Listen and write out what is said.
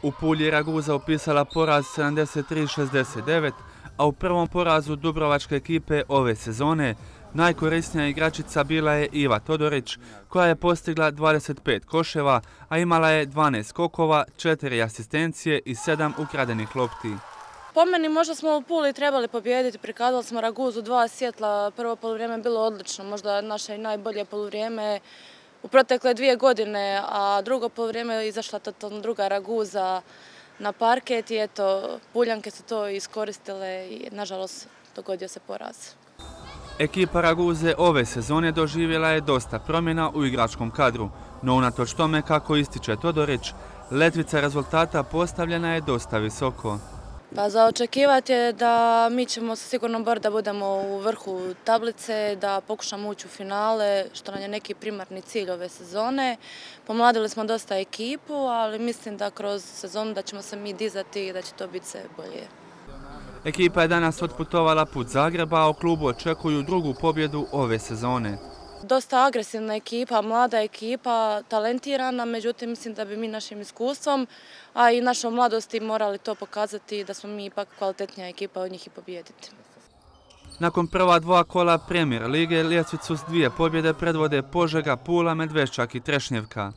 U Pulji je Raguza upisala poraz 73-69, a u prvom porazu dubrovačke ekipe ove sezone najkorisnija igračica bila je Iva Todorić, koja je postigla 25 koševa, a imala je 12 skokova, 4 asistencije i 7 ukradenih lopti. Po meni možda smo u Puli trebali pobijediti, prikazali smo Raguzu 2 svjetla, prvo poluvrijeme je bilo odlično, možda naše i najbolje poluvrijeme u protekle 2 godine, a drugo poluvrijeme je izašla totalno druga Raguza na parket i eto, Puljanke su to iskoristile i nažalost dogodio se poraz. Ekipa Raguze ove sezone doživjela je dosta promjena u igračkom kadru, no unatoč tome, kako ističe Todorić, letvica rezultata postavljena je dosta visoko. Pa za očekivati je da mi ćemo se sigurno boriti da budemo u vrhu tablice, da pokušamo ući u finale, što nam je neki primarni cilj ove sezone. Pomladili smo dosta ekipu, ali mislim da kroz sezonu da ćemo se mi dizati i da će to biti sve bolje. Ekipa je danas otputovala put Zagreba, a u klubu očekuju drugu pobjedu ove sezone. Dosta agresivna ekipa, mlada ekipa, talentirana, međutim mislim da bi mi našim iskustvom, a i našom mladosti morali to pokazati da smo mi ipak kvalitetnija ekipa od njih i pobijediti. Nakon prva 2 kola Premier lige, ljestvicu s 2 pobjede predvode Požega, Pula, Medveščak i Trešnjevka.